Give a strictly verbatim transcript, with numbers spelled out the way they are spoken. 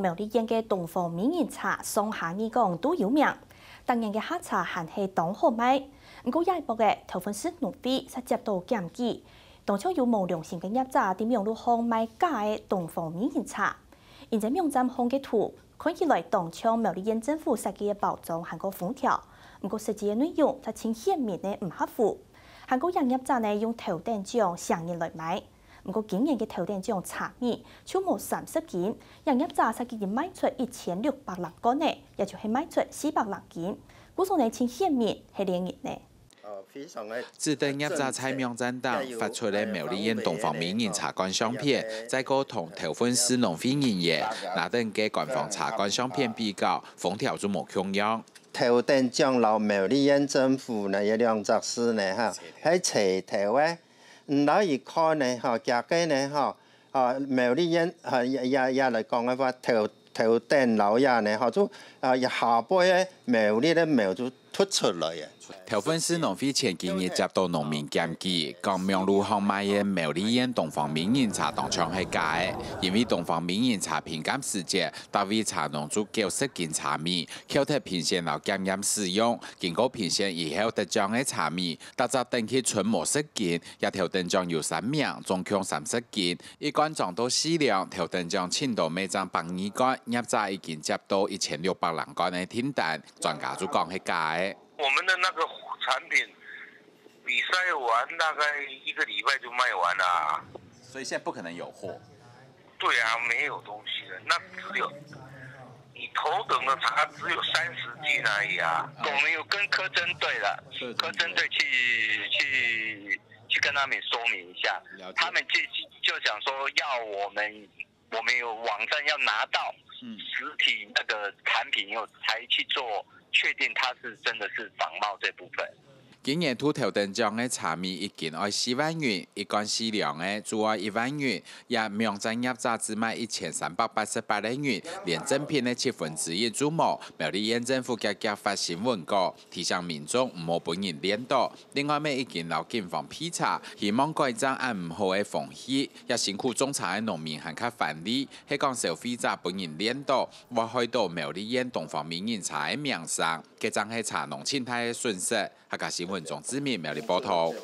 苗栗縣个東方美人茶上下二港都有名，逐年个下茶還係當好賣。毋過這一駁仔，頭份市農會煞接到檢舉，當像有無良心个業者在網路項賣假个東方美人茶。因為網站項个圖看起來當像苗栗縣政府設計个包裝還過封條，毋過實際个內容卻盡顯明个毋合符。還過這業者呢用頭等獎成人來賣。 毋過今年个頭等獎茶米就無三十斤，這業者煞已經賣出一千六百零罐呢，也就係賣出四百零斤。故所呢，盡顯明係騙人呢。指定業者在網站頂發出个苗栗縣東方美人茶罐相片，再過同頭份市農會人員拿等个官方茶罐相片比較，封條就無共樣。頭等獎摎苗栗縣政府呢，有兩隻字呢，哈，係齊頭个。 毋，摎佢看呢，吼，佢个呢，吼，吼，苗栗縣，吼，也也也來講个話，頭頭等摎這呢，吼，就啊，下背个苗栗个苗就突出來个。頭份市農會前幾日接到農民檢舉，講網路項賣个苗栗縣東方美人茶當像係假个，因為東方美人茶品鑑時節，逐位茶農煮九十斤茶米，扣忒評審摎檢驗使用，經過評審以後得獎个茶米，逐隻等級賰五十斤， 這頭等獎有三名，總共三十斤，一罐裝到四兩，頭等獎盡多賣正百二罐，業者已經接到一千六百零罐个訂單，專家就講係假个。我們的那個產品比賽完大概一個禮拜就賣完了啊。所以現在不可能有貨。對啊，沒有東西了，那只有你頭等的茶只有三十斤而已啊。我們有跟柯震隊的，柯震隊去去去跟他們說明一下，他們就就想說要我們我們有網站要拿到實體那個產品以後才去做確定它是真的是仿冒這部分。今年度頭等獎个茶米一斤愛四萬銀，一罐四兩个就愛一萬銀，也網站業者只賣一千三百八十八个銀，連正品个七分之一就無。苗栗縣政府遽遽發新聞稿，提醒民眾毋好分人騙著。另外乜已經摎警方備查，希望改正恁毋好个風氣。 也辛苦種茶个農民還較歡喜，係講消費者分人騙著，會害著苗栗縣東方美人茶个名聲，該正係茶農盡大个損失。客家新聞鍾志明苗栗報導。